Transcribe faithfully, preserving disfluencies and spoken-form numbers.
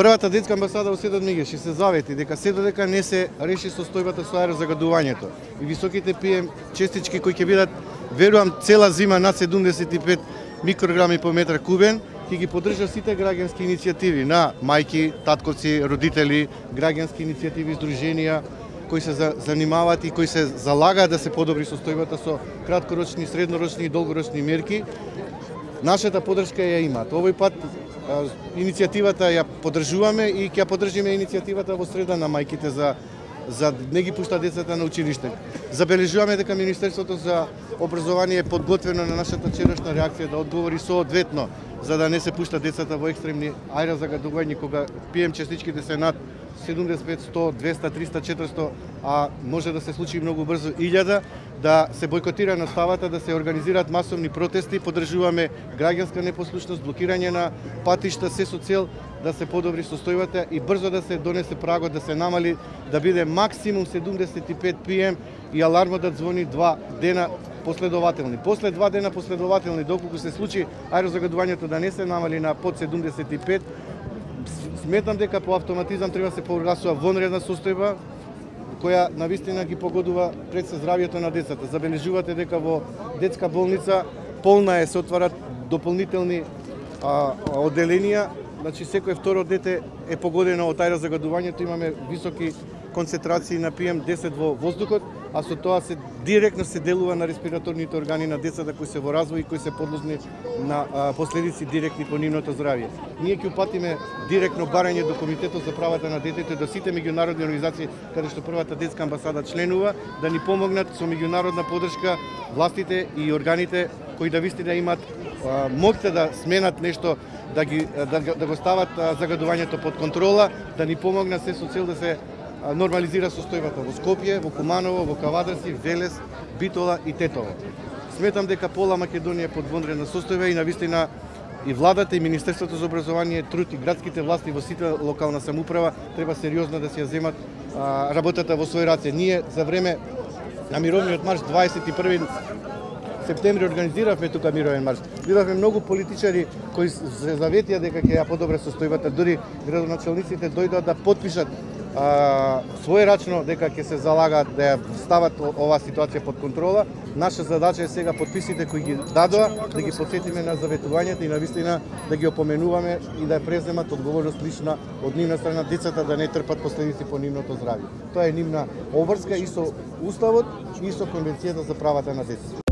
Првата детска амбасада во Светот Мигеш се завети дека се додека не се реши состојбата со аерозагадувањето и високите пи ем честички кои ќе бидат, верувам, цела зима над седумдесет и пет микрограми по метар кубен, ќе ги поддржа сите граѓански иницијативи на мајки, татковци, родители, граѓански иницијативи, здруженија кои се занимаваат и кои се залагаат да се подобри состојбата со краткорочни, среднорочни и долгорочни мерки. Нашата поддршка ја имаат. Овој пат иницијативата ја поддржуваме и ќе поддржиме иницијативата во среда на мајките за за не ги пушта децата на училиште. Забележуваме дека Министерството за образование е подготвено на нашата вчерашна реакција да одговори соодветно за да не се пушта децата во екстремни аерозагадувања кога пи ем частичките се над седумдесет и пет, сто, двеста, триста, четиристо, а може да се случи многу брзо илјада, да се бойкотира наставата, да се организираат масовни протести, поддржуваме граѓанска непослушност, блокирање на патишта, се со цел да се подобри состојбата и брзо да се донесе прагот, да се намали, да биде максимум седумдесет и пет пи ем и алармот да звони два дена последователни. После два дена последователни, доколку се случи аерозагадувањето да не се намали на под седумдесет и пет, сметам дека по автоматизам треба да се прогласува вонредна состојба која навистина ги погодува пред се здравјето на децата. Забележувате дека во детска болница полна е, се отварат дополнителни а, оделенија, значи секој второ дете е погодено од аерозагадувањето, имаме високи концентрации на пи ем десет во воздухот, а со тоа се директно се делува на респираторните органи на децата кои се во развој и кои се подложни на а, последици директни по нивното здравје. Ние ќе упатиме директно барање до Комитетот за правата на детето и до сите меѓународни организации каде што првата детска амбасада членува да ни помогнат со меѓународна поддршка властите и органите кои да вистина имаат моќта да сменат нешто, да ги да, да го стават а, загадувањето под контрола, да ни помогнат се со цел да се нормализира состојбата во Скопје, во Куманово, во Кавадарци, Велес, Битола и Тетово. Сметам дека пола Македонија е под вонредна состојба и навистина и владата и Министерството за образование, труд и градските власти во сите локална самоуправа треба сериозно да се ја земат а, работата во свој раце. Ние за време на мировниот марш дваесет и први септември организиравме тука мировен марш. Видовме многу политичари кои се заветија дека ќе ја подобре состојбата, дури градоначалниците дојдоа да потпишат а, својрачно дека ќе се залагаат да ја стават оваа ситуација под контрола. Наша задача е сега подписите кои ги дадоа да ги потсетиме на заветувањата и навистина да ги опоменуваме и да ја преземат одговорност лична од нивна страна, децата да не трпат последици по нивното здравје. Тоа е нивна обврска и со Уставот и со Конвенцијата за правата на детето.